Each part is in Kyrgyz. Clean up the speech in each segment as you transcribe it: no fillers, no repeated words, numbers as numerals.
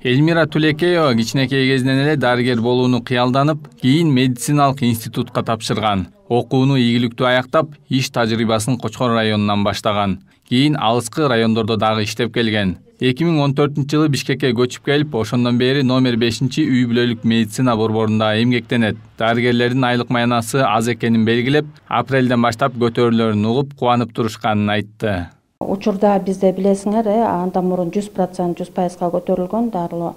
Эльмира Тулекеева кичинекей кезинен эле дарыгер болууну кыялданып, кийин медициналык институтка тапшырган. Окууну ийгиликтүү аяктап, иш тажрыйбасын Кочкор районунан баштаган. Кийин алыскы райондордо дагы иштеп келген. 2014-жылы Бишкекке көчүп келип, ошондон бери номер 5-үй бүлөлүк медицина борборунда эмгектенет. Дарыгерлердин айлык маянасы аз экенин белгилеп, апрелден баштап көтөрүлөрүн угуп, кубанып турушканын айтты. Учурда бизде билесиңер, андан мурун 100% көтөрүлгөн дарылоо.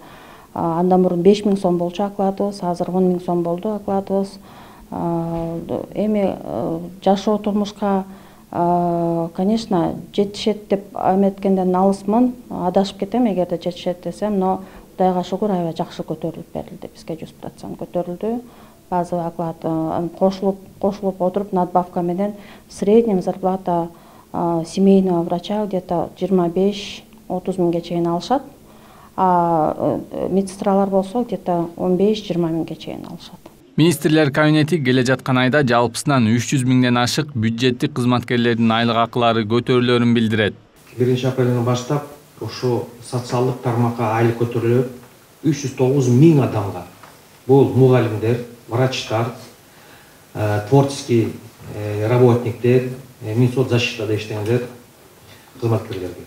Андан мурун 5000 сом болчу окладыбыз, азыр 10 000 сом болду окладыбыз. Эми жашоо турмушка, конечно, жетишет деп эметкенден алысмын, адашып кетем эгерде жетишет десем, но Кудайга шүгүр аябай жакшы көтөрүлүп берилди. Бизге 100% көтөрүлдү. Базовый оклад кошулуп отуруп надбавка менен средняя зарплата семейного врача где-то 25-30 миңге чейин алышат. А медсестралар болсо где-то 15-20 миңге чейин алышат. Министрлер кабинети келе жаткан айда жалпысынан 300 миңден ашык бюджеттик кызматкерлердин айлык акылары көтөрүлөрүн билдирет. 1 апрелден баштап ошо социалдык тармакка айлык көтөрүлөт 309 миң адамга. Бул мугалимдер, врачтар, творческий работниктер, Минсоцзащитада иштегендер, кызматкерлерге.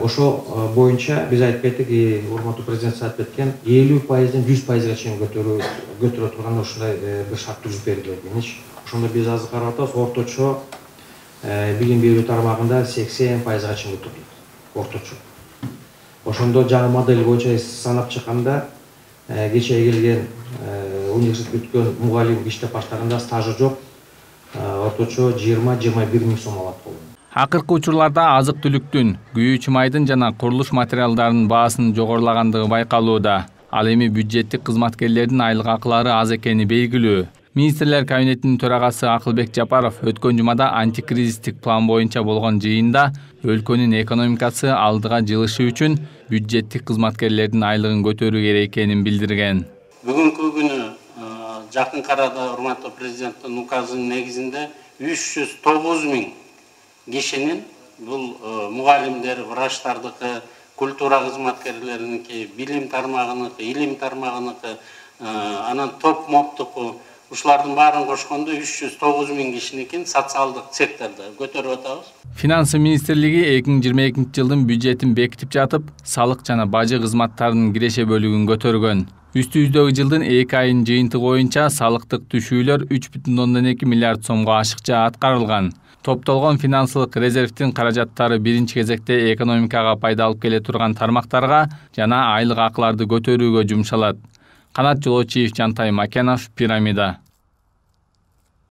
Ошо боюнча биз айтып кеттик, урматтуу президент айтып кеткен, 50%-ден 100%га чейин көтөрө турган ошондой бир шарт түзүп берилген. Ошондо биз азыр карап атабыз, орточо билим берүү тармагында 80%га чейин көтөрүлөт. Орточо. Ошондо жаңы модель боюнча санап чыкканда, кече келген университет бүткөн мугалим иштеп баштаганда стажы жок, орточо 20-21 миң сом алат болду. Акыркы учурларда азык-түлүктүн, күйүүчү майдын жана курулуш материалдарынын баасынын жогорулагандыгы байкалууда. Ал эми бюджеттик кызматкерлердин айлык акылары аз экени белгилүү. Министрлер кабинетинин төрагасы Акылбек Жапаров өткөн жумада антикризистик план боюнча болгон жыйында өлкөнүн экономикасы алдыга жылышы үчүн бюджеттик кызматкерлердин айлыгын көтөрүү керек экенин билдирген. Бүгүнкү күнү жакын арада урматтуу президенттин указынын негизинде 309 миң кишинин, бул мугалимдер, врачтардыкы, культура кызматкерлериники, билим тармагыныкы, илим тармагыныкы, анан топ моптуку, ушулардын баарын кошкондо 309 миң кишиникин социалдык секторда көтөрүп атабыз. Финансы министрлиги 2022 жылдын бюджетин бекитип жатып, салык жана бажы кызматтарынын киреше бөлүгүн көтөргөн. Үстүбүздөгү жылдын 2 айынын жыйынтыгы боюнча салыктык түшүүлөр 3,2 миллиард сомго ашыкча аткарылган. Топтолгон финансылык резервдин каражаттары биринчи кезекте экономикага пайда алып келе турган тармактарга жана айлык акыларды көтөрүүгө жумшалат. Канат Жолочиев, Жантай Макенов, Пирамида.